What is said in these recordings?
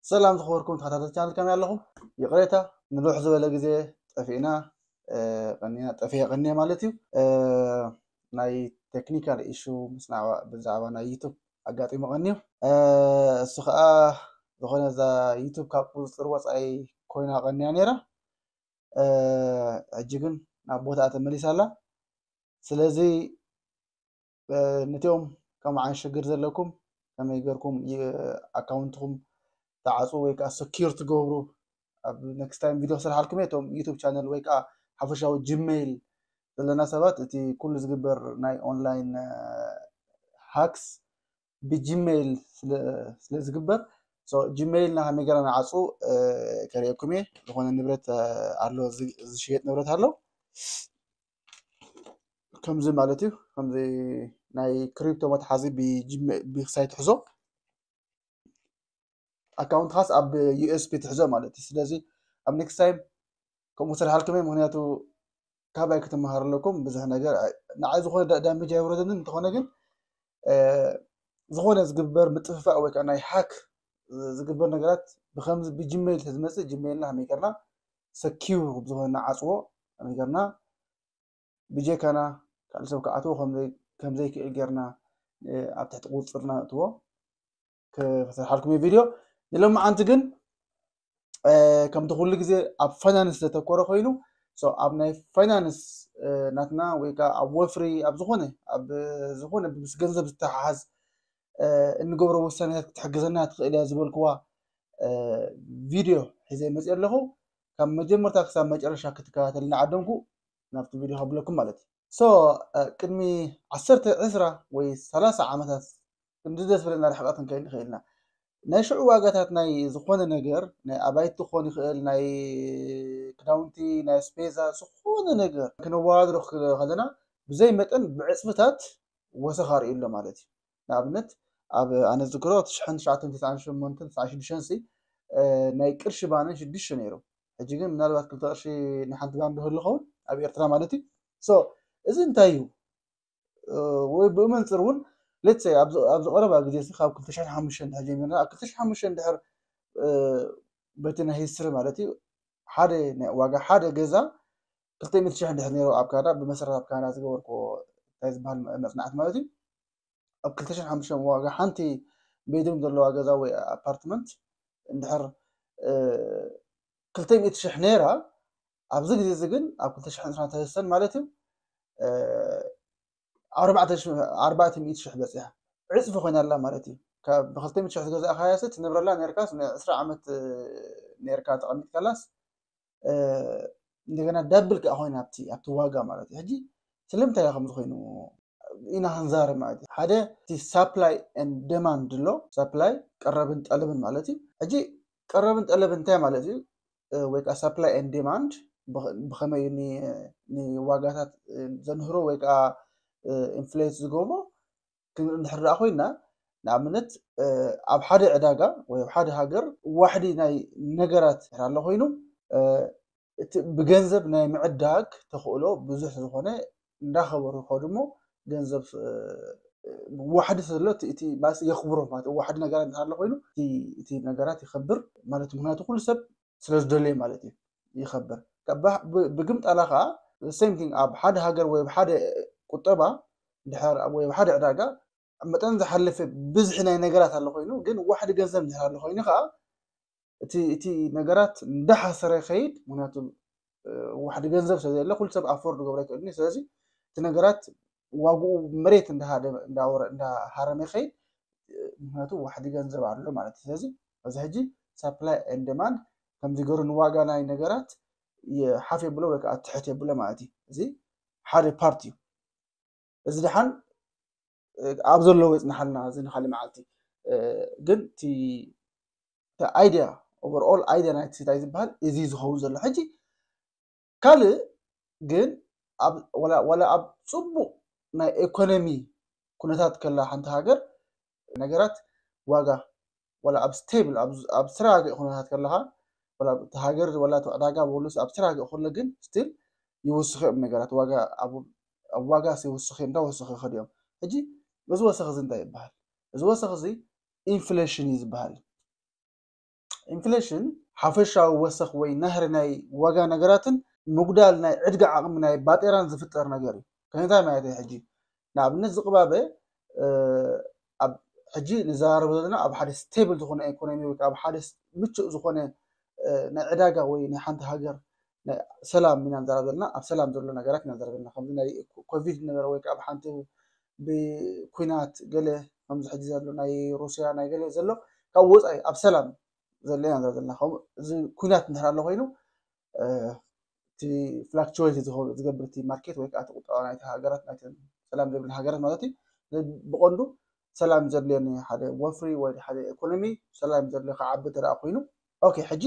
ሰላም ዝኸበርኩም ተኸታተልቲ ቻነል፣ ከመይ ኣለኹም? ይቕሬታ፣ ንልውሕ ዝበለ ግዜ ጠፊእና፣ እ፣ ቀኒና፣ ጠፊኤ ቀኒየ ማለት እዩ። እ፣ ናይ ቴክኒካል ኢሹ ምስ ናዕባ-፣ ብዛዕባ ናይ ዩቱብ ኣጋጢሙ ቀኒዩ። እ፣ እሱ ኸዓ ዝኾነ እዛ ዩቱብ ካብ ቁፅፅር ወፃኢ ኮይና ቀኒያ ነይራ። እ፣ ሕጂ ግን ናብ ቦታኣ ተመሊሳ ኣላ። ስለዚ፣ እ፣ ነቲኦም ከምዓን ሽግር ዘለኩም ከመይ ገርኩም ይ-፣ ኣካውንትኩም ትዓፁ ወይ ከዓ ሰኪር ትገብሩ ኣብ ኔክስት ታይም ቪድዮ ክሰርሓልኩም እየ። እቶም ዩቱብ ቻነል ወይ ከዓ ሓፈሻዊ ጂሜይል ዘለና ሰባት፣ እቲ ኩሉ ዝግበር ናይ ኦንላይን፣ እ፣ ሃክስ ብጂሜይል ስለ፣ ስለ ዝግበር፣ ሶ፣ ጂሜይልና ከመይ ገይርና ንዓፁ፣ እ፣ ከርእየኩም እየ። ዝኾነ ንብረት፣ እ፣ ኣሎ፣ ዝ-፣ ዝሽየጥ ንብረት ኣሎ። ከምዚ ማለት እዩ። ከምዚ ናይ ክሪፕቶ መትሓዚ ብጂሜ-፣ ብክሳይ ትሕዞ፣ ኣካውንትኻስ ኣብ ዩ ኤስ ቢ ትሕዞ ማለት እዩ። ስለዚ ኣብ ኔክስት ታይም ከምኡ ክሰርሓልኩም እየ። ምክንያቱ ካባይ ክትመሃሩ ኣለኩም ብዙሕ ነገር። ኣይ-፣ ንዓይ ዝኾነ ዳ-፣ ዳሜጅ ኣይወረደንን። እንተኾነ ግን፣ እ፣ ዝኾነ ዝግበር ምጥፍፋእ ወይ ከዓ ናይ ሃክ ዝግበር ነገራት ብከምዚ ብጂሜይል ተዝመፅእ፣ ጂሜይልና ከመይ ገርና ሰኪር ዝኾነ ንዓፅዎ፣ ከመይ ገርና ብጀካና ካልእ ሰብ ክኣትዎ ከምዘይ-፣ ከምዘይክእል ጌርና፣ እ፣ ኣብ ትሕቲ ቁፅፅርና ነእትዎ ክሰርሓልኩም እዩ ቪድዮ። ንሎማዓንቲ ግን፣ እ፣ ከምቲ ኩሉ ግዜ ኣብ ፋይናንስ ዘተኮረ ኮይኑ፣ ሶ፣ ኣብ ናይ ፋይናንስ፣ እ፣ ናትና ወይ ከዓ ኣብ ወፍሪ፣ ኣብ ዝኾነ፣ ኣብ ዝኾነ ምስ ገንዘብ ዝተሓሓዝ፣ እ፣ እንገብሮ ውሳኔታት ክትሕግዘና ትኽእል እያ ዝበልክዋ፣ እ፣ ቪድዮ ሒዘ መፅእ ኣለኹ። ካብ መጀመርታ ክሳብ መጨረሻ ክትከታተል እናዓደምኩ ናብቲ ቪድዮ ከብለኩም ማለት እዩ። ሶ፣ እ፣ ቅድሚ ዓሰርተ፣ ዕስራ ወይ ሰላሳ ዓመታት ክንዲ ደስ በለና ርሕቐት ክንከይድ ንኽእል ኢና። ናይ ሽዑ ዋጋታት ናይ ዝኾነ ነገር፣ ናይ ኣባይቲ ክኾን ይኽእል፣ ናይ ክዳውንቲ፣ ናይ ኣስቤዛ፣ ዝኾነ ነገር ክነወዳድሮ ከለና ብዘይ መጠን ብዕፅፍታት ወሰኽ ኣርእዩ ኣሎ ማለት እዩ። ንኣብነት፣ ኣብ ኣነ ዝዝክሮ ትሽዓን ትሽዓተ ሚእትን ትስዓን ሸሞንተን ትስዓን ሽዱሽተን ሲ፣ እ፣ ናይ ቅርሺ ባነ ሽዱሽተ ነይሩ። ሕጂ ግን ምናልባት ክልተ ቅርሺ ንሓንቲ ባን ዶ ህሉ ኸውን ኣብ ኤርትራ ማለት እዩ። ሶ፣ እዚ እንታይ እዩ? እ፣ ወይ ብመንፅር እውን፣ ሌትስ ሴይ፣ ኣብዚ፣ ኣብዚ ቀረባ ግዜ እዚ ካብ ክልተ ሽሕን ሓሙሽተን እንድሕር ጀሚርና፣ ኣብ ክልተ ሽሕን ሓሙሽተን እንድሕር፣ እ፣ በቲ ናይ ሂስትሪ ማለት እዩ፣ ሓደ ናይ ዋጋ ሓደ ገዛ ክልተ ሚእቲ ሽሕ እንድሕር ነይሩ ኣብ ካናዳ፣ ብመሰረት ኣብ ካናዳ ዝገበርኩዎ እንታይ ዝበሃል መ-፣ መፅናዕቲ ማለት እዩ፣ ኣብ ክልተ ሽሕን ሓሙሽተን ዋጋ ሓንቲ ቤድሩም ዘለዋ ገዛ ወይ ኣፓርትመንት እንድሕር፣ እ፣ ክልተ ሚእቲ ሽሕ ነይራ፣ ኣብዚ ግዜ እዚ ግን ኣብ ክልተ ሽሕን ዕስራን ሰለስተን ማለት እዩ፣ እ፣ ኣርባዕተ ሽሕ፣ ኣርባዕተ ሚእቲ ሽሕ በፂሓ። ዕፅፊ ኮይና ኣላ ማለት እዩ። ካብ ብክልተ ሚእቲ ሽሕ ዝገዛእካያ ሲ ትነብረላ ነርካስ፣ ንዕስራ ዓመት፣ እ፣ ነርካ ተቐሚጥካላስ፣ እ፣ እንደገና ዳብል ከኣ ኮይና ኣብቲ፣ ኣብቲ ዋጋ ማለት እዩ። ሕጂ ስለምንታይ እያ ከምዚ ኮይኑ ኢና ክንዛረብ ማለት እዩ። ሓደ እቲ ሳፕላይ ኤንድ ዴማንድ ኣሎ። ሳፕላይ፣ ቀረብን ጠለብን ማለት እዩ። ሕጂ ቀረብን ጠለብን እንታይ ማለት እዩ? እ፣ ወይ ከዓ ሳፕላይ ኤንድ ዴማንድ ብኸ-፣ ብኸመይ ኒ-፣ ንዋጋታት፣ እ፣ ዘንህሮ ወይ ከዓ፣ እ፣ ኢንፍሌት ዝገብሮ? ክን-፣ እንድሕር ደኣ ኮይና፣ ንኣብነት፣ እ፣ ኣብ ሓደ ዕዳጋ ወይ ኣብ ሓደ ሃገር ዋሕዲ ናይ ነገራት እንድሕር ኣሎ ኮይኑ፣ እ፣ እቲ ብገንዘብ ናይ ምዕዳግ ተኽእሎ ብዙሕ ዝኾነ እንዳኸበሩ ይኸዱ እሞ፣ ገንዘብ፣ እ፣ ዋሕዲ ስለ ዘሎ እቲ፣ እቲ ማለት የኽብሮ ማለት እዩ። ዋሕዲ ነገራት እንድሕር ኣሎ ኮይኑ፣ እቲ፣ እቲ ነገራት ይኸብር ማለት፣ ምኽንያቱ ኩሉ ሰብ ስለ ዝደለየ ማለት እዩ፣ ይኸብር። ከባ-፣ ብ-፣ ብግምጣላ ከዓ ሴም ቲንግ ኣብ ሓደ ሃገር ወይ ኣብ ሓደ ቁጠባ እንድሕር ወይ ኣብ ሓደ ዕዳጋ መጠን ዝሓለፈ ብዝሒ ናይ ነገራት ኣሎ ኮይኑ፣ ግን ዋሕዲ ገንዘብ እንድሕር ኣሎ ኮይኑ ከዓ እቲ፣ እቲ ነገራት እንዳሓሰረ ይኸይድ። ምኽንያቱ፣ እ፣ ዋሕዲ ገንዘብ ስለ ዘየለ ኩሉ ሰብ ኣፎርድ ክገብሮ ኣይክእልን እዩ። ስለዚ እቲ ነገራት ዋግኡ መሬት እንዳሃደ-፣ እንዳወረ-፣ እንዳሃረመ ይኸይድ። ምኽንያቱ ዋሕዲ ገንዘብ ኣሎ ማለት እዩ። ስለዚ ኣብዚ ሕጂ ሳፕላይ ኤንድ ዴማንድ ከምዚ ገይሩ ንዋጋ ናይ ነገራት የ-፣ ሓፍ የብሎ ወይ ከዓ ትሕት የብሎ ማለት እዩ። እዚ ሓደ ፓርት እዩ። እዚ ደሓን፣ እ፣ ኣብ ዘለዎ ይጽናሓልና፣ እዚ ንኻልእ መዓልቲ። እ፣ ግን እቲ፣ እቲ ኣይድያ፣ ኦቨርኦል ኣይድያ ናይቲ እንታይ ዝበሃል፣ እዚ ዝኸውን ዘሎ። ሕጂ ካልእ ግን ኣብ፣ ዋላ፣ ዋላ ኣብ ጽቡቕ ናይ ኢኮኖሚ ኩነታት ከላ ሓንቲ ሃገር፣ ነገራት ዋጋ፣ ዋላ ኣብ ስቴብል፣ ኣብ፣ ኣብ ዝተረጋግአ ኩነታት ከለኻ፣ ዋላ እቲ ሃገር፣ ዋላ እቲ ዕዳጋ፣ ወሉስ ኣብ ዝተረጋግአ ከሎ ግን ስቲል ይውስኹ እዮም ነገራት። ዋጋ ኣብ፣ ኣብ ዋጋ ይውስኹ እዮም፣ እንዳወሰኹ ይኸዱ እዮም። ሕጂ እዚ ወሰኽ እዚ እንታይ ይበሃል? እዚ ወሰኽ እዚ ኢንፍሌሽን እዩ ዝበሃል። ኢንፍሌሽን ሓፈሻዊ ወሰኽ ወይ ናህሪ ናይ ዋጋ ነገራትን ምጉዳል ናይ ዕድጋ ዓቕሚ ናይ ባጤራን ዝፍጠር ነገር እዩ። ከመይ ማለት እዩ? ሕጂ ንኣብነት ዝቕባበ ኣብ ሕጂ ንዘራረብ ዘለና ኣብ ሓደ ስቴብል ዝኾነ ኢኮኖሚ ወይ ኣብ ሓደ ምቹእ ዝኾነ ናይ ዕዳጋ ወይ ናይ ሓንቲ ሃገር ሰላም ኢና ንዛረብ ዘለና። ኣብ ሰላም ዘሎ ነገራት ኢና ንዛረብ ዘለና። ከምዚ ናይ ኮቪድ ነበረ ወይ ኣብ ሓንቲ ብኩናት ገለ ከምዚ ሕጂ ዘሎ ናይ ሩስያ ናይ ገለ ዘሎ ካብ ወፃኢ ኣብ ሰላም ዘሎ ኢና ንዛረብ ዘለና። እዚ ኩናት እንድሕር ኣሎ ኮይኑ እቲ ፍላክቹዌት ዝገብር እቲ ማርኬት ወይ ከዓ ቁጠባ ናይቲ ሃገራት ናይተን ሰላም ዘይብለን ሃገራት ማለት እዩ። ብቐንዱ ሰላም ዘድልየኒ ሓደ ወፍሪ ወይ ሓደ ኢኮኖሚ ሰላም ዘድልዮ ክዓቢ ተደኣ ኮይኑ ኦኬ። ሕጂ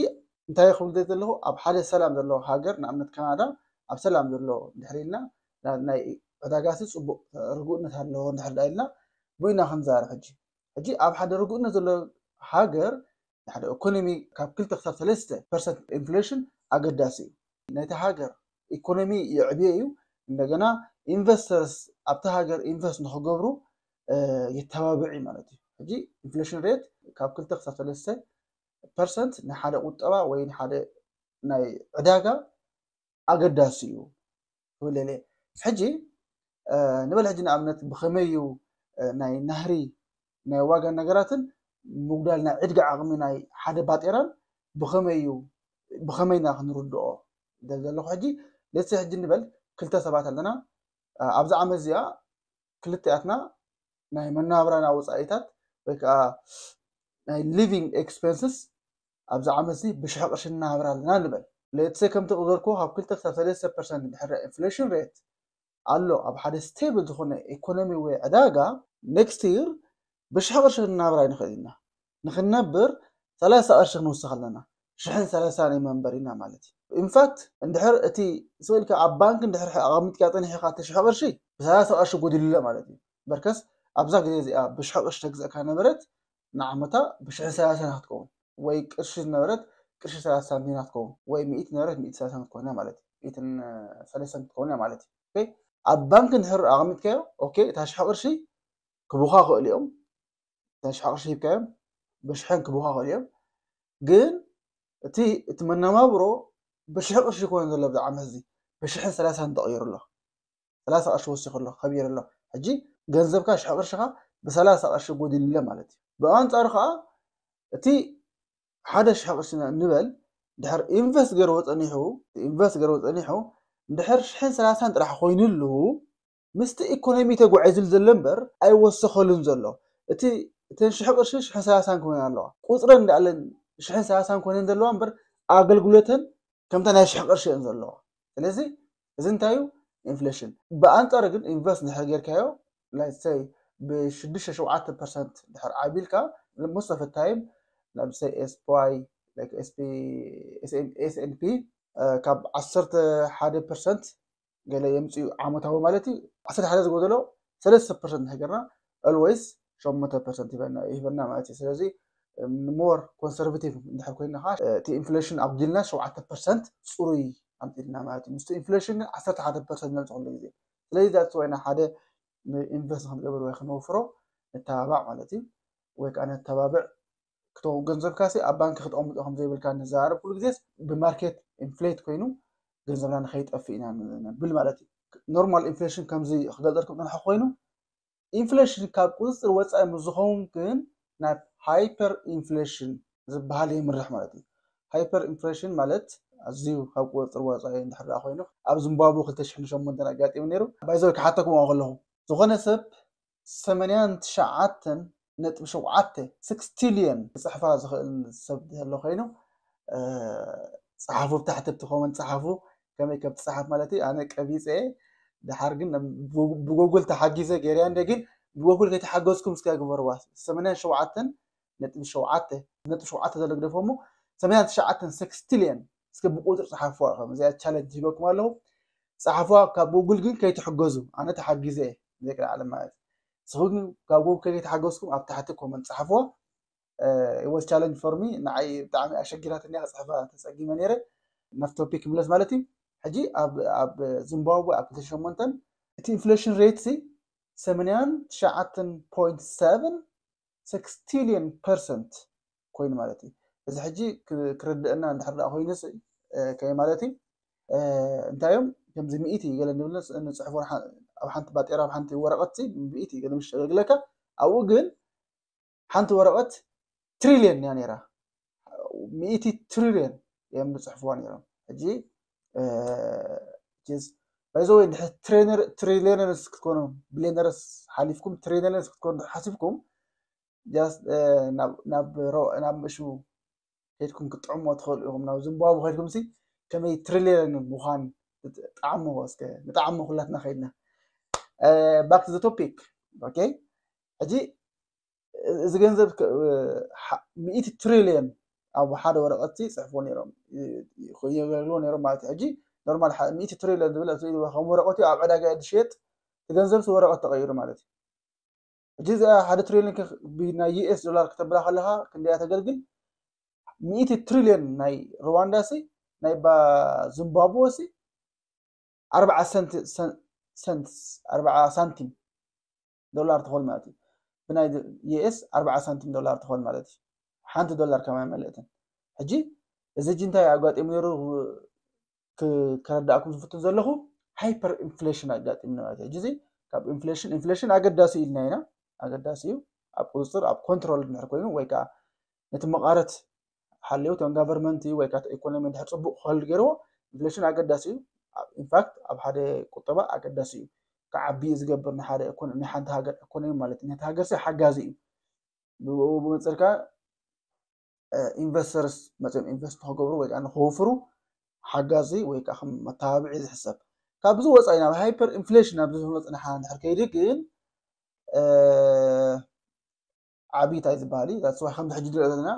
እንታይ ክብል ዘለኹ ኣብ ሓደ ሰላም ዘለዎ ሃገር ንኣብነት ካናዳ ኣብ ሰላም ዘሎ እንድሕር ኢልና ናይ ዕዳጋሲ ፅቡቅ ርጉእነት ኣለዎ እንድሕር ዳ ኢልና ብኢና ክንዛረብ ሕጂ ሕጂ ኣብ ሓደ ርጉእነት ዘሎ ሃገር ሓደ ኢኮኖሚ ካብ ክልተ ክሳብ ሰለስተ ፐርሰንት ኢንፍሌሽን ኣገዳሲ እዩ። ነቲ ሃገር ኢኮኖሚ የዕብዮ እዩ። እንደገና ኢንቨስተርስ ኣብቲ ሃገር ኢንቨስት ንክገብሩ የተባብዕ እዩ ማለት እዩ። ሕጂ ኢንፍሌሽን ሬት ካብ ክልተ ክሳብ ሰለስተ ፐርሰንት ንሓደ ቁጠባ ወይ ንሓደ ናይ ዕዳጋ ኣገዳሲ እዩ ክብል እየ። ሕጂ ንበል ሕጂ ንኣብነት ብኸመይ እዩ ናይ ናህሪ ናይ ዋጋ ነገራትን ምጉዳል ናይ ዕድጋ ዓቕሚ ናይ ሓደ ባጤራን ብኸመይ እዩ ብኸመይ ኢና ክንርድኦ ዘለኹ? ሕጂ ሌትሰ ሕጂ ንበል ክልተ ሰባት ኣለና ኣብዚ ዓመት እዚኣ ክልቲኣትና ናይ መናብራና ወፃኢታት ወይ ከዓ ናይ ሊቪንግ ኤክስፐንስስ ኣብዚ ዓመት እዚ ብሽሕ ቅርሺ እናሃብር ኣለና ንበል። ሌትሰ ከምቲ ቅዘልኩ ካብ ክልተ ክሳብ ሰለስተ ፐርሰንት ድሕሪ ኢንፍሌሽን ሬት ኣሎ ኣብ ሓደ ስቴብል ዝኾነ ኢኮኖሚ ወይ ዕዳጋ ኔክስት ይር ብሽሕ ቅርሺ ክንናብር ኣይንኽእል ኢና። ንክንነብር ሰላሳ ቅርሺ ክንውስኽ ኣለና። ሽሕን ሰላሳን መንበሪና ማለት እዩ። ኢንፋክት እንድሕር እቲ ስእልካ ኣብ ባንክ እንድሕር ኣቐሚጥካ ፀኒሕካ እቲ ሽሕ ቅርሺ ብሰላሳ ቅርሺ ጎዲሉለ ማለት እዩ። በርከስ ኣብዛ ግዜ እዚኣ ብሽሕ ቅርሺ ተግዘእካ ነበረት ንዓመታ ብሽሕን ሰላሳን ክትከውን ወይ ቅርሺ ዝነበረት ቅርሺ ሰላሳ ሳንቲም ክትከውን ወይ ሚእቲ ነበረት ሚእቲ ሰላሳ ክትከውን ማለት እዩ። ሚእትን ሰላሳን ክትከውን ማለት እዩ። ኣብ ባንክ እንድሕር ኣቐሚጥካዮ ኦኬ እታ ሽሕ ቅርሺ ክቡኻ ክእል እዮም። እታ ሽሕ ቅርሺ ሂብካዮም ብሽሕን ክቡኻ ክእል እዮም። ግን እቲ እቲ መነባብሮ ብሽሕ ቅርሺ ይኮነ ዘሎ ብዚ ዓመት እዚ ብሽሕን ሰላሳን ተቐይሩ ኣሎ። ሰላሳ ቅርሺ ወሲኹ ኣሎ ከቢሩ ኣሎ። ሕጂ ገንዘብካ ሽሕ ቅርሽኻ ብሰላሳ ቅርሺ ጎዲሉለ ማለት እዩ። ብኣንፃሩ ከዓ እቲ ሓደ ሽሕ ቅርሺ ንበል ድሕር ኢንቨስት ገርዎ ፀኒሑ ኢንቨስት ገርዎ ፀኒሑ እንድሕር ሽሕን ሰላሳን ጥራሕ ኮይኑሉ ምስቲ ኢኮኖሚ ተጓዒዙሉ ዘሎ እምበር ኣይወሰኸሉን ዘሎ። እቲ እተን ሽሕ ቅርሺ ሽሕን ሰላሳን ክኾና ኣለዋ። ቁፅረን እንዳኣለን ሽሕን ሰላሳን ኮይነን ዘለዋ እምበር ኣገልግሎተን ከምታ ናይ ሽሕ ቅርሺ እየን ዘለዋ። ስለዚ እዚ እንታይ እዩ? ኢንፍሌሽን። ብኣንፃሩ ግን ኢንቨስት እንድሕር ጌርካዮ ላይሰይ ብሽዱሽተ ሸውዓተ ፐርሰንት ድሕር ዓቢልካ most of time ለምሳይ ኤስፒዋይ ኤስኤንፒ ካብ ዓሰርተ ሓደ ፐርሰንት ገለ የምፅኡ ዓመታዊ ማለት እዩ። ዓሰርተ ሓደ ዝጎደሎ ሰለስተ ፐርሰንት ንሕገርና ኦልዌይስ ሸሞንተ ፐርሰንት ይበና ማለት እዩ። ስለዚ ሞር ኮንሰርቬቲቭ እንድሕር ኮይና ከዓ እቲ ኢንፍሌሽን ኣጉዲልና ሸውዓተ ፐርሰንት ፅሩይ ኣምፂልና ማለት እዩ። ምስቲ ኢንፍሌሽን ግን ዓሰርተ ሓደ ፐርሰንት ነምፅእ ኩሉ ግዜ። ስለዚ ዛትስ ዋይ ሓደ ኢንቨስት ክንገብር ወይ ክንወፍሮ ነተባባዕ ማለት እዩ። ወይ ከዓ ነተባብዕ ክተው ገንዘብካ ሲ ኣብ ባንክ ክተቐምጦ ከም ዘይብልካ ንዘራረብ ኩሉ ግዜ ብማርኬት ኢንፍሌት ኮይኑ ገንዘብና ንኸይጠፍእ ኢና ንብል ማለት እዩ። ኖርማል ኢንፍሌሽን ከምዚ ክገልጸልኩም ዝጸናሕኩ ኮይኑ ኢንፍሌሽን ካብ ቁፅፅር ወፃኢ ምስ ዝኸውን ግን ናብ ሃይፐር ኢንፍሌሽን ዝበሃል የምርሕ ማለት እዩ። ሃይፐር ኢንፍሌሽን ማለት ኣዝዩ ካብ ቁፅፅር ወፃኢ እንድሕር ኮይኑ ኣብ ዚምባብወ ክልተ ሽሕን ሸሞንተን ኣጋጢሙ ነይሩ። ባይዘወይ ክሓተኩም ከለኹ ዝኾነ ሰብ ሰማንያን ትሽዓተን ነጥቢ ሸውዓተ ስክስ ቲልዮን ክፅሕፋ ዝኽእል ሰብ ዘሎ ኮይኑ ፀሓፉ ብታሕቲ ብቲ ኮመንት ፀሓፉ ከመይ ከም ትፅሓፍ ማለት እዩ። ኣነ ቀቢፀ ድሓር ግን ብጎጉል ተሓጊዘ ገይረያ እንደ ግን ብጎጉል ከይተሓገዝኩም እስከ ግበርዋ ሰማንያን ሸውዓተን ነጥቢ ሸውዓተ ነጥቢ ሸውዓተ ዘሎ ግደፎ እሞ ሰማንያን ትሽዓተን ስክስ ቲልዮን እስከ ብቁፅሪ ፀሓፍዋ ከም እዚኣ ቻለንጅ ሂበኩም ኣለኹ። ፀሓፍዋ ካብ ጉግል ግን ከይትሕገዙ ኣነ ተሓጊዘ እየ ዘይቅድሚ ዓለም ማለት እዩ። ንስኹም ግን ካብ ጉግል ከይተሓገዝኩም ኣብ ታሕቲ ኮመንት ፀሓፍዋ። It was challenge for me ንዓይ ብጣዕሚ ኣሸጊራትኒ እያ ክፅሕፋ ተፀጊመ ነይረ። ናብ ቶፒክ ክምለስ ማለት እዩ። ሕጂ ኣብ ዚምባብወ ኣብ ክልተ ሸሞንተን እቲ ኢንፍሌሽን ሬት ሲ ሰማንያን ትሽዓተን ፖይንት ሰቨን ስክስ ቲልዮን ፐርሰንት ኮይኑ ማለት እዩ። እዚ ሕጂ ክርድአና እንድሕር ደኣ ኮይኑስ ከመይ ማለት እዩ? እንታይ እዮም ከምዚ ሚእቲ ገለ ንብል ንፅሕፎ፣ ኣብ ሓንቲ ባጤራ ኣብ ሓንቲ ወረቐት ሚእቲ ገለ ምሽ የገልግለካ። ኣብኡ ግን ሓንቲ ወረቐት ትሪልየን እያ ነይራ። ሚእቲ ትሪልየን እዮም ዝፅሕፍዋ ነይሮም። ሕጂ ባይዘወይ እንድሕር ትሪሊየነርስ ክትኮኑ፣ ቢሊየነርስ ሓሊፍኩም ትሪሊየነርስ ክትኮኑ ሓሲብኩም፣ ናብ ምእሹ ከይድኩም ክትጥዕሞ ትኽእሉ ኢኹም። ናብ ዝምባቡ ከይድኩም ሲ ከመይ ትሪሊየን ምዃን ጣዕሞ እስከ ንጣዕሞ ኩላትና ከይድና። Back to the topic. Okay፣ ሕጂ እዚ ገንዘብ ሚእቲ ትሪሊየን ኣብ ሓደ ወረቐት ጽሕፎ ነይሮም፣ የገልግሎ ነይሮም ማለት እዩ። ሕጂ ኖርማል ሚእቲ ትሪሊየን ዝብል ከም ወረቐት ኣብ ዕዳጋ ዝሽየጥ፣ እቲ ገንዘብ ወረቐት ተቐይሩ ማለት እዩ። ሕጂ እዚኣ ሓደ ትሪሊዮን ናይ ዩኤስ ዶላር ክተብላ ከለኻ ክንደያ ተገልግል? ሚእቲ ትሪሊዮን ናይ ሩዋንዳ ሲ፣ ናይ ባ ዝምባብወ ሲ ኣርባዓ ሰንት፣ ሰንትስ፣ ኣርባዓ ሳንቲም ዶላር ትኾን ማለት እዩ። ብናይ ዩኤስ ኣርባዓ ሳንቲም ዶላር ትኾን ማለት እዩ። ሓንቲ ዶላር ከማይ መለእትን። ሕጂ እዚ ሕጂ እንታይ ኣጋጢሙ ነይሩ ከረዳእኩም ዝፍትን ዘለኹ፣ ሃይፐር ኢንፍሌሽን ኣጋጢምና ማለት እዩ። ሕጂ እዚ ካብ ኢንፍሌሽን፣ ኢንፍሌሽን ኣገዳሲ ኢልና ኢና፣ ኣገዳሲ እዩ። ኣብ ቁፅፅር፣ ኣብ ኮንትሮል እንድሕር ኮይኑ ወይ ከዓ ነቲ መቓረት ሓልዩ እቶም ጋቨርመንት ወይ ከዓ ኢኮኖሚ እንድሕር ፅቡቅ ክኸልድ ገይርዎ፣ ኢንፍሌሽን ኣገዳሲ እዩ። ኢንፋክት ኣብ ሓደ ቁጠባ ኣገዳሲ እዩ። ክዓቢ እዩ ዝገብር ንሓደ ኢኮኖ-፣ ንሓንቲ ሃገር ኢኮኖሚ ማለት እዩ። ነቲ ሃገር ሲ ሓጋዚ እዩ። ብኡ ብመንፅር ከዓ ኢንቨስተርስ መፅኦም ኢንቨስት ንክገብሩ ወይ ከዓ ንክውፍሩ ሓጋዚ ወይ ከዓ ከም መተባብዒ ዝሕሰብ። ካብዚ ወፃኢ ናብ ሃይፐር ኢንፍሌሽን ኣብዚ ዝመፅናሓ እንድሕር ከይዲ ግን ዓብይታይ ዝበሃል እዩ። ዛትስ ዋይ ከምዚ ሕጂ ንሪኦ ዘለና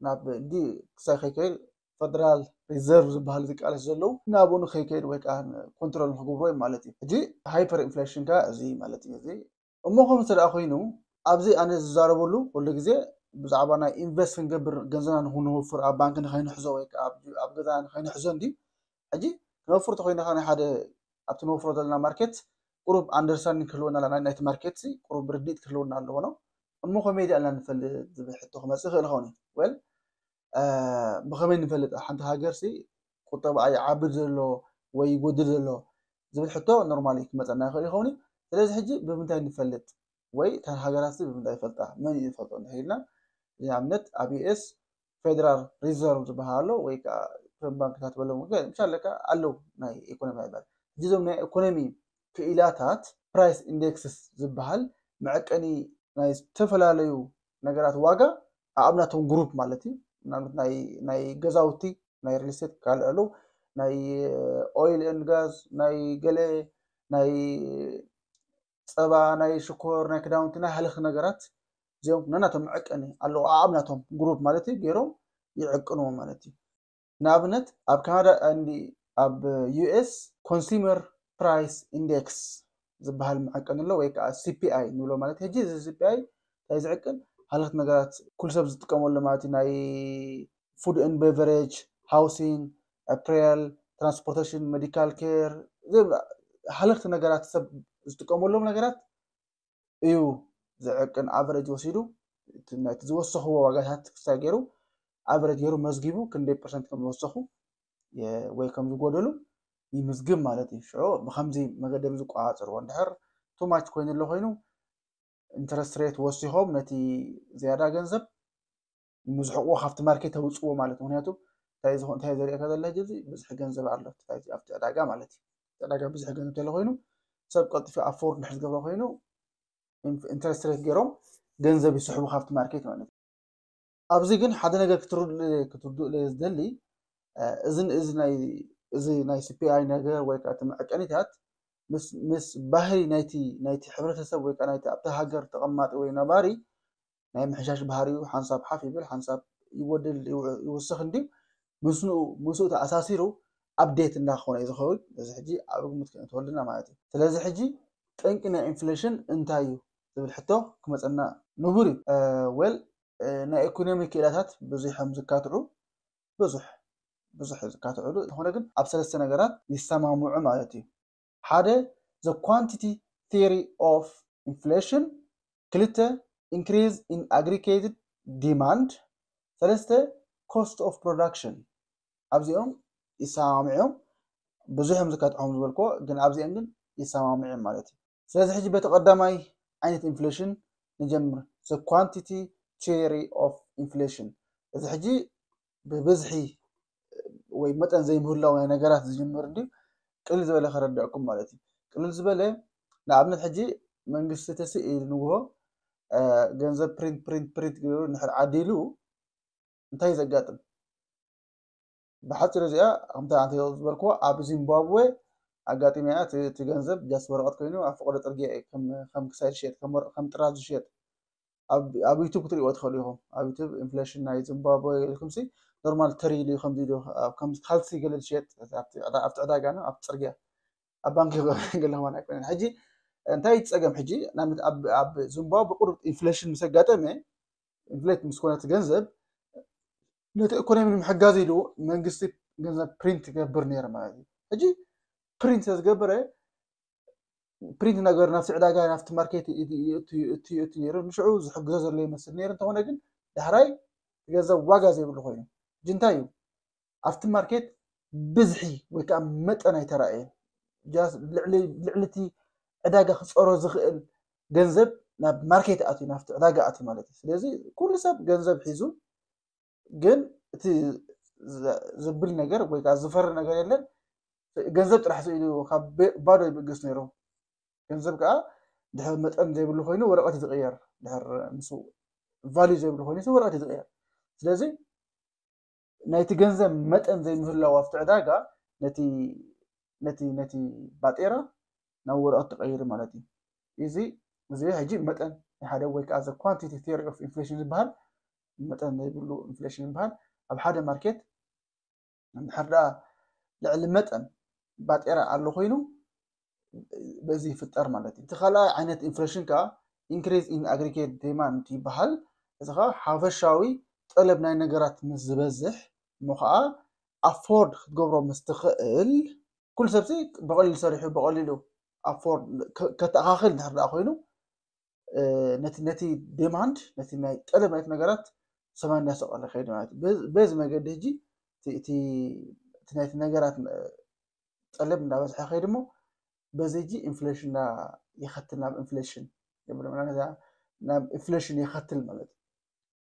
ናብ እንዲ ክሳይ ከይከይድ ፈደራል ሪዘርቭ ዝበሃል ዝቃለስ ዘለዉ ናብኡ ንከይከይድ ወይ ከዓ ኮንትሮል ንክገብርዎ እዩ ማለት እዩ። ሕጂ ሃይፐር ኢንፍሌሽን ከ እዚ ማለት እዩ። እዚ እሞ ከምኡ እንተ ደኣ ኮይኑ ኣብዚ ኣነ ዝዛረበሉ ኩሉ ግዜ ብዛዕባ ናይ ኢንቨስት ክንገብር ገንዘብና ንክንወፍር ኣብ ባንክ ንከይንሕዞ ወይ ከዓ ኣብ ገዛ ንከይንሕዞ እንዲ ሕጂ ክነፍር ተኮይና ከ ናይ ሓደ ኣብቲ ንወፍሮ ዘለና ማርኬት ቁሩብ ኣንደርስታንዲንግ ክህልወና ኣለና፣ ናይቲ ማርኬት ቁሩብ ርድኢት ክህልወና ኣለዎ ነው። እሞ ከመይ ዲኣልና ንፈልጥ ዝብል ሕቶ ክመፅእ ይኽእል ይኸውን እዩ። ወል ብኸመይ ንፈልጥ ሓንቲ ሃገር ሲ ቁጠባ ይዓቢ ዘሎ ወይ ይጎድል ዘሎ ዝብል ሕቶ ኖርማሊ ክመፀና ይኽእል ይኸውን እዩ። ስለዚ ሕጂ ብምንታይ ንፈልጥ ወይ እተን ሃገራት ሲ ብምንታይ ይፈልጣ መን እዩ ዝፈልጦ እንድሕር ኢልና ንኣብነት ኣብ ዩኤስ ፌደራል ሪዘርቭ ዝበሃል ኣሎ ወይ ከዓ ከም ባንክታት በሎም ምሻለካ ኣለዉ ናይ ኢኮኖሚ ይበል። ሕጂ እዞም ናይ ኢኮኖሚ ክኢላታት ፕራይስ ኢንዴክስስ ዝበሃል መዐቀኒ ናይ ዝተፈላለዩ ነገራት ዋጋ ኣብ ናቶም ግሩፕ ማለት እዩ። ናይ ገዛውቲ ናይ ሪል ስቴት ካልእ ኣለዉ ናይ ኦይል ኤንድ ጋዝ ናይ ገለ ናይ ፀባ ናይ ሽኮር ናይ ክዳውንቲ ናይ ሃለኽቲ ነገራት እዚኦም ነናቶም መዐቀኒ ኣለዉ ኣብ ናቶም ግሩፕ ማለት እዩ ገይሮም ይዕቅንዎ ማለት እዩ። ንኣብነት ኣብ ካናዳ እንዲ ኣብ ዩኤስ ኮንሱመር ፕራይስ ኢንዴክስ ዝበሃል መዐቀኒ ኣሎ ወይ ከዓ ሲፒኣይ ንብሎ ማለት ሕጂ እዚ ሲፒኣይ እንታይ ዝዕቅን ሃለኽቲ ነገራት ኩሉ ሰብ ዝጥቀመሉ ማለት እዩ ናይ ፉድ ን ቤቨሬጅ ሃውሲንግ ኣፕሬል ትራንስፖርቴሽን ሜዲካል ኬር ሃለኽቲ ነገራት ሰብ ዝጥቀመሎም ነገራት እዩ ዝዕቅን ኣቨሬጅ ወሲዱ ናይቲ ዝወሰኽዎ ዋጋታት ክሳይ ገይሩ ኣቨሬጅ ገይሩ መዝጊቡ ክንደይ ፐርሰንት ከም ዝወሰኹ ወይ ከም ዝጎደሉ ይምዝግብ ማለት እዩ። ሽዑ ብከምዚ መገደብ ዝቆፃፀርዎ እንድሕር ቱማች ኮይኑ ኣሎ ኮይኑ ኢንተረስት ሬት ወሲኾም ነቲ ዝያዳ ገንዘብ ምዝሕቕዎ ካብቲ ማርኬት ተውፅዎ ማለት ምክንያቱ እንታይ ዝኾ እንታይ ዘሪእካ ዘላ ሕጂ ብዝሒ ገንዘብ ኣሎ ኣብቲ ዕዳጋ ማለት እዩ። ዕዳጋ ብዝሒ ገንዘብ ተለ ኮይኑ ሰብ ቀልጢፊ ኣፎርድ ንድሕር ዝገብሮ ኮይኑ ኢንተረስት ሬት ገይሮም ገንዘብ ይስሕቡ ካብቲ ማርኬት ማለት እዩ። ኣብዚ ግን ሓደ ነገር ክትርድኡ ክትርድኡ ዝደሊ እዚ እዚ ናይ እዚ ናይ ሲፒኣይ ነገር ወይ ከዓ እቲ መዐቀኒታት ምስ ምስ ባህሪ ናይቲ ናይቲ ሕብረተሰብ ወይ ከዓ ናይቲ ኣብቲ ሃገር ተቐማጢ ወይ ነባሪ ናይ ምሕሻሽ ባህሪኡ ሓንሳብ ሓፍ ይብል ሓንሳብ ይጎድል ይውስኽ እንዲ ምስኡ ምስኡ ተኣሳሲሩ ኣፕዴት እንዳኾነ እዩ ዝኸውን። እዚ ሕጂ ኣብ ግምት ክንእትወልና ማለት እዩ። ስለዚ ሕጂ ጠንቂ ናይ ኢንፍሌሽን እንታይ እዩ ዝብል ሕቶ ክመፀና ንቡር እዩ። ወል ናይ ኢኮኖሚ ክኢላታት ብዙሕ እዮም ዝካትዑ ብዙሕ ብዙሕ ዝካትዑሉ እንተኾነ ግን ኣብ ሰለስተ ነገራት ይሰማምዑ ማለት እዩ። ሓደ the quantity theory of inflation፣ ክልተ increase in aggregated demand፣ ሰለስተ cost of production ኣብዚኦም ይሰማምዕዮም። ብዙሕ እዮም ዝካትዖም ዝበልኮ፣ ግን ኣብዚኦም ግን ይሰማምዕዮም ማለት እዩ። ስለዚ ሕጂ በቲ ቀዳማይ ዓይነት ኢንፍሌሽን ንጀምር። The quantity theory of inflation። እዚ ሕጂ ብብዝሒ ወይ መጠን ዘይምህላው ናይ ነገራት ዝጅምር እንዲ ቅልል ዝበለ ከረዳእኩም ማለት እዩ። ቅልል ዝበለ ንኣብነት ሕጂ መንግስቲ ተስኢል ንግሆ ገንዘብ ፕሪንት ፕሪንት ፕሪንት ገይሩ ንድሕር ዓዲሉ እንታይ እዩ ዘጋጥም? ብሓፂሩ እዚኣ ከምታ ኣንተ ዝበልክዎ ኣብ ዚምባብዌ ኣጋጢመያ። እቲ ገንዘብ ጃስ ወረቐት ኮይኑ ኣብ ፈቐዶ ፅርግያ እዩ ከም ክሳይ ዝሸየጥ ከም ጥራዝ ዝሸየጥ ኣብ ዩቱብ ክትሪእዎ ትኽእሉ ኢኹም። ኣብ ዩቱብ ኢንፍሌሽን ናይ ዚምባብዌ ኢልኩምሲ ኖርማል ተሪሉ እዩ ከምዚ ኢሉ ካልሲ ገለ ዝሸየጥ ኣብቲ ዕዳጋ ኣብ ፅርግያ ኣብ ባንኪ ገለኹም ኣይኮነን። ሕጂ እንታይ ፀገም ሕጂ ኣብ ዚምባብዌ ብቁሩብ ኢንፍሌሽን ምስ ኣጋጠመ ኢንፍሌት ምስ ኮነ እቲ ገንዘብ ነቲ ኢኮኖሚ ንምሕጋዝ ኢሉ መንግስቲ ገንዘብ ፕሪንት ይገብር ነይሩ ማለት እዩ። ሕጂ ፕሪንት ዝገብረ ፕሪንት ነገር ናብቲ ዕዳጋ ናብቲ ማርኬት እትእቱ ነይሩ ንሽዑ ዝሕግዞ ዘሎ ይመስል ነይሩ። እንተኾነ ግን ዳሕራይ ገንዘብ ዋጋ ዘይብሉ ኮይኑ ሕጂ እንታይ እዩ ኣብቲ ማርኬት ብዝሒ ወይ ከዓ መጠን ኣይተራእየን። ልዕሊ እቲ ዕዳጋ ክፀሮ ዝኽእል ገንዘብ ናብ ማርኬት ኣትዩ ናብቲ ዕዳጋ ኣትዩ ማለት እዩ። ስለዚ ኩሉ ሰብ ገንዘብ ሒዙ ግን እቲ ዘብል ነገር ወይ ከዓ ዝፈሪ ነገር የለን። ገንዘብ ጥራሕ ስኢሉ ካብ ባዶ ይብግስ ነይሩ። ገንዘብ ከዓ ድሕር መጠን ዘይብሉ ኮይኑ ወረቐት ዝቕየር ድሕር ምስ ቫልዩ ዘይብሉ ኮይኑ ወረቐት ዝቕየር። ስለዚ ናይቲ ገንዘብ መጠን ዘይምህላው ኣብቲ ዕዳጋ ነቲ ነቲ ነቲ ባጤራ ናብ ወረቐት ትቐይር ማለት እዩ። እዚ እዚ ሕጂ መጠን ናይ ሓደ ወይ ከዓ the quantity theory of inflation ዝበሃል መጠን ዘይብሉ ኢንፍሌሽን ዝበሃል ኣብ ሓደ ማርኬት እንድሕር ደኣ ልዕሊ መጠን ባጤራ ኣሎ ኮይኑ በዚ ይፍጠር ማለት እዩ። እቲ ካልኣይ ዓይነት ኢንፍሌሽን ከዓ increase in aggregate demand ይበሃል። እዚ ከዓ ሓፈሻዊ ጠለብ ናይ ነገራት ምስ ዝበዝሕ እሞ ከዓ ኣፎርድ ክትገብሮ ምስ ትኽእል ኩሉ ሰብሲ ብቐሊሉ ሰሪሑ ብቐሊሉ ኣፎርድ ከተኣኻኽል እንድሕር ደኣ ኮይኑ ነቲ ነቲ ዴማንድ ነቲ ናይ ጠለብ ናይቲ ነገራት ሰማይ እናሰቐለ ከይድ ማለት እዩ። በዚ መገዲ ሕጂ እቲ ናይቲ ነገራት ጠለብ እንዳበዝሐ ከይድ እሞ በዚ ሕጂ ኢንፍሌሽን ይኸትል ናብ ኢንፍሌሽን ናብ ኢንፍሌሽን ይኸትል ማለት እዩ።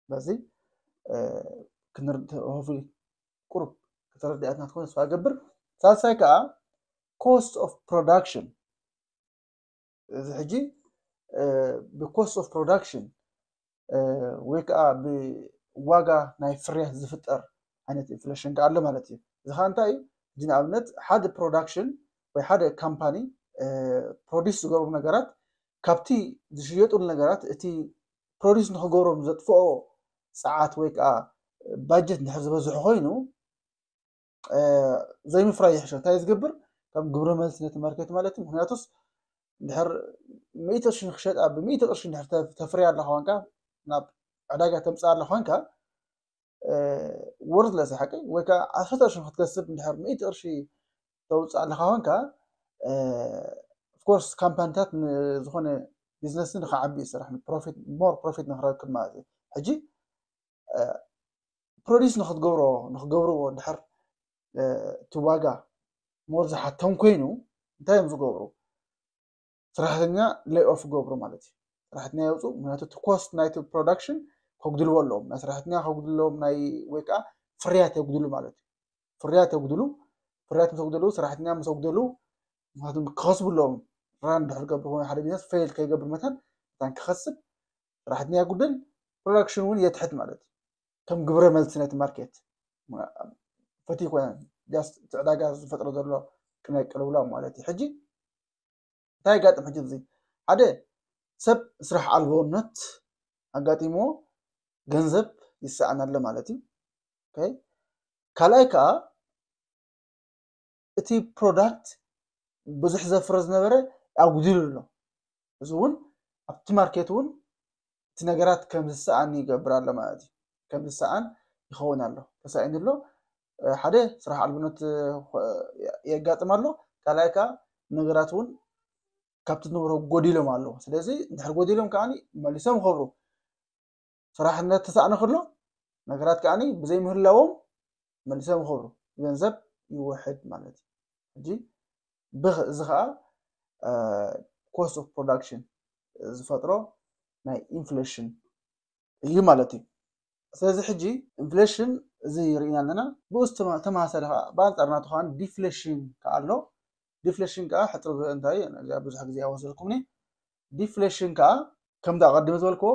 በዚ ክንርድእ ሆፍሊ ቁሩብ ከተረዳእትና ትኮነ ተስፋ ገብር። ሳልሳይ ከዓ cost of production እዚ ሕጂ ብ cost of production ወይ ከዓ ብዋጋ ናይ ፍርያት ዝፍጠር ዓይነት ኢንፍሌሽን ከዓ ኣሎ ማለት እዩ። እዚ ከዓ እንታይ እዩ? እዚ ንኣብነት ሓደ ፕሮዳክሽን ወይ ሓደ ካምፓኒ ፕሮዲስ ዝገብሩ ነገራት ካብቲ ዝሽየጡሉ ነገራት እቲ ፕሮዲስ ንክገብሮም ዘጥፍኦ ፀዓት ወይ ከዓ ባጀት እንድሕር ዝበዝሑ ኮይኑ ዘይምፍራይ ይሕሸ። እንታይ ዝገብር ከም ግብረ መልሲ ነቲ ማርኬት ማለት እዩ። ምክንያቱስ እንድሕር ሚእቲ ቅርሺ ንክሸጣ ብሚእቲ ቅርሺ እንድሕር ተፍርያ ኣለካ ኮንካ ናብ ዕዳጋ ተምፅኣ ኣለካ ኮንካ ወርትለስ ሓቂ ወይ ከዓ ዓሰርተ ቅርሺ ንክትከስብ እንድሕር ሚእቲ ቅርሺ ተውፅእ ኣለካ ኮንካ ኦፍኮርስ ካምፓኒታት ንዝኮነ ቢዝነስ ንክዓቢ ይስራሕ ፕሮፊት ሞር ፕሮፊት ንክረክብ ማለት እዩ። ሕጂ ፕሮዲስ ንክትገብሮ ንክገብርዎ እንድሕር እቲ ዋጋ ሞር ዝሓቶም ኮይኑ እንታይ እዮም ዝገብሩ? ሰራሕተኛ ሌይ ኦፍ ይገብሩ ማለት እዩ። ሰራሕተኛ የውፁ። ምክንያቱ እቲ ኮስት ናይቲ ፕሮዳክሽን ከጉድልዎ ኣለዎም። ናይ ሰራሕተኛ ከጉድልዎም ናይ ወይ ከዓ ፍርያት የጉድሉ ማለት እዩ። ፍርያት የጉድሉ። ፍርያት ምስ ኣጉደሉ ሰራሕተኛ ምስ ኣጉደሉ ምክንያቱም ክኸስቡ ኣለዎም። ራን ድሕር ገብር ኮይኑ ሓደ ቢዝነስ ፌል ከይገብር መታን መታን ክኸስብ ሰራሕተኛ የጉድል ፕሮዳክሽን እውን የትሕት ማለት እዩ። ከም ግብረ መልሲ ነቲ ማርኬት ፈትዩ ኮነ ጃስት እቲ ዕዳጋ ዝፈጥሮ ዘሎ ቅነ ቅልውላው ማለት እዩ። ሕጂ እንታይ ይጋጥም? ሕጂ እዚ ሓደ ሰብ ስራሕ ኣልቦነት ኣጋጢሞ ገንዘብ ይሰኣን ኣሎ ማለት እዩ። ካልኣይ ከዓ እቲ ፕሮዳክት ብዙሕ ዘፍረ ዝነበረ ኣጉዲሉ ኣሎ። እዚ እውን ኣብቲ ማርኬት እውን እቲ ነገራት ከም ዝሰኣን ይገብር ኣሎ ማለት እዩ። ከም ዝሰኣን ይኸውን ኣሎ። ተሳኢኑ ኣሎ። ሓደ ስራሕ ኣልብነት የጋጥም ኣሎ። ካልኣይ ከዓ ነገራት እውን ካብቲ ዝነበሮ ጎዲሎም ኣለዉ። ስለዚ እንድሕር ጎዲሎም ከዓ መሊሶም ይኸብሩ። ስራሕ እናተሳእነ ከሎ ነገራት ከዓ ብዘይምህላዎም መሊሶም ይኸብሩ፣ ገንዘብ ይውሕድ ማለት እዩ። ሕጂ ብኽ እዚ ከዓ cost of production ዝፈጥሮ ናይ ኢንፍሌሽን እዩ ማለት እዩ። ስለዚ ሕጂ ኢንፍሌሽን እዚ ርኢና ኣለና። ብኡስ ተመሳሳሊ ከዓ ብኣንፃር ናቱ ከዓ ዲፍሌሽን ከዓ ኣሎ። ዲፍሌሽን ከዓ ሕፅር ዝበለ እንታይ ብዙሕ ግዜ ኣወሰድኩምኒ። ዲፍሌሽን ከዓ ከምዚ ኣቐዲመ ዝበልክዎ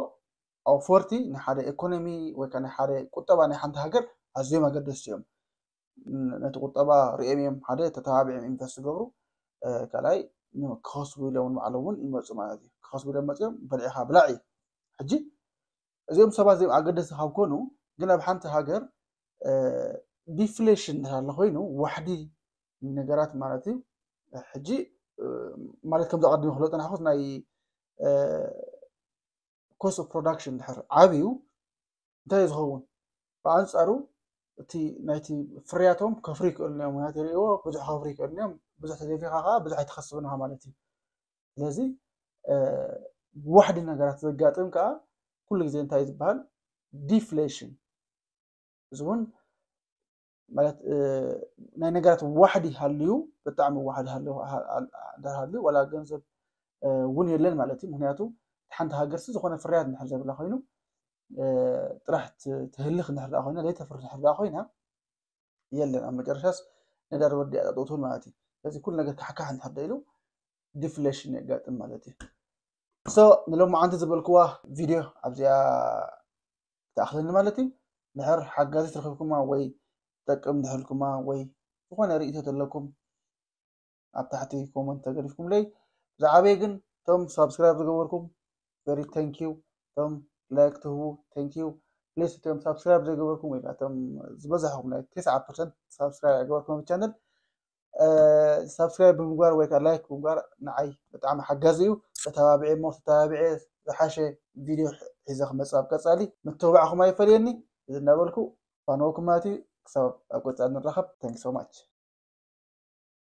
ኣውፈርቲ ንሓደ ኢኮኖሚ ወይ ከዓ ንሓደ ቁጠባ ናይ ሓንቲ ሃገር ኣዝዮም ኣገደስቲ እዮም። ነቲ ቁጠባ ሪኦም እዮም ሓደ ተተባቢዖም ኢንቨስት ዝገብሩ፣ ካልኣይ ክኸስቡ ኢሎም ባዕሎም እውን ይመፁ ማለት እዩ። ክኸስቡ ኢሎም መፅኦም በሊዕኻ ብላዕ እዩ። ሕጂ እዚኦም ሰባት እዚኦም ኣገደስቲ ካብ ኮኑ ግን ኣብ ሓንቲ ሃገር ዲፍሌሽን እንድሕር ኣሎ ኮይኑ ዋሕዲ ነገራት ማለት እዩ። ሕጂ ማለት ከምዚ ኣቐዲመ ክብሎ ዝፀናሕኩ ናይ cost of production እንድሕር ዓብዩ እንታይ እዩ ዝኸውን? ብኣንፃሩ እቲ ናይቲ ፍርያቶም ከፍርዩ ይክእሉ እዮም። ምክንያቱ ይርእይዎ ብዙሕ ከፍርዩ ይክእሉ እዮም። ብዙሕ ተደፊኻ ከዓ ብዙሕ ኣይትኸስብን ኢኻ ማለት እዩ። ስለዚ ዋሕዲ ነገራት ዘጋጥም ከዓ ኩሉ ግዜ እንታይ ዝበሃል ዲፍሌሽን። እዚ እውን ማለት ናይ ነገራት ዋሕዲ ሃልዩ ብጣዕሚ ዋሕዲ ሃልዩ ዋላ ገንዘብ እውን የለን ማለት እዩ። ምክንያቱ ሓንቲ ሃገርሲ ዝኾነ ፍርያት እንድሕር ዘብላ ኮይኑ ጥራሕ ትህልኽ እንድሕር ኮይና ዘይተፍሪ እንድሕር ኮይና የለን ኣብ መጨረሻስ ነዳዲ ወዲኣ ጠጠው ትብል ማለት እዩ። ስለዚ ኩሉ ነገር ካሕካሕ እንድሕር ኢሉ ዲፍሌሽን የጋጥም ማለት እዩ። ሶ ንሎማዓንቲ ዝበልክዋ ቪድዮ ኣብዚኣ ትኣኽለኒ ማለት እዩ። ድሕር ሓጋዚት ረኺብኩማ ወይ ትጠቅም ድሕልኩማ ወይ ዝኾነ ርእይቶ ዘለኩም ኣብ ታሕቲ ኮመንት ተገዲፍኩምለይ። ብዛዕባይ ግን እቶም ሳብስክራይብ ዝገበርኩም very thank you፣ እቶም ላይክ ትህቡ thank you። ፕሊስ እቶም ሳብስክራይብ ዘይገበርኩም ወይ እቶም ዝበዛሕኩም ናይ ተስዓ ፐርሰንት ሳብስክራይብ ኣይገበርኩም ቻነል ሳብስክራይብ ብምግባር ወይ ከዓ ላይክ ብምግባር ንዓይ ብጣዕሚ ሓጋዚ እዩ። ተተባብዐ እሞ ተተባብዐ ዝሓሸ ቪድዮ ሒዘ ክመፅእ ኣብ ቀፃሊ ምትብባዕኹም ኣይፈለየኒ። እዚ እናበልኩ ፋነወኩም ማለት እዩ። ክሳብ ኣብ ቀፃሊ ንራኸብ። Thank you so much።